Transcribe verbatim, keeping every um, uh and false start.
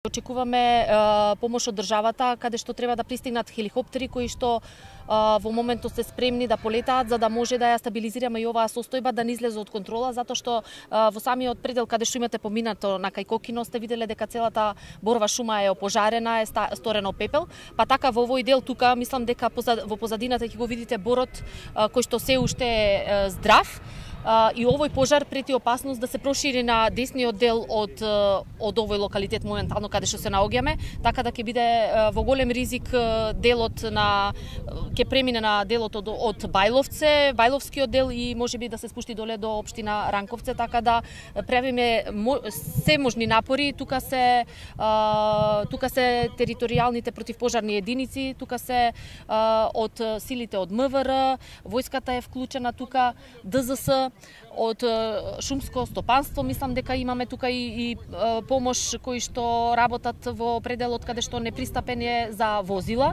Очекуваме помош од државата, каде што треба да пристигнат хеликоптери кои што во моментот се спремни да полетаат, за да може да ја стабилизираме и оваа состојба да не излезе од контрола, затоа што во самиот предел каде што имате поминато на кај Кокино сте виделе дека целата борова шума е опожарена, е сторено пепел, па така во овој дел тука мислам дека во позадината ќе го видите борот кој што се уште е здрав. И овој пожар прети опасност да се прошири на десниот дел од од овој локалитет моментално каде што се наоѓаме, така да ќе биде во голем ризик делот на ќе премине на делот од, од Бајловце, Бајловскиот дел и можеби да се спушти доле до општина Ранковце, така да правиме се можни напори. Тука се тука се територијалните противпожарни единици, тука се од силите од М В Р, војската е вклучена тука, Д Z С, од шумско стопанство, мислам дека имаме тука и, и помош кои што работат во пределот каде што непристапен е за возила.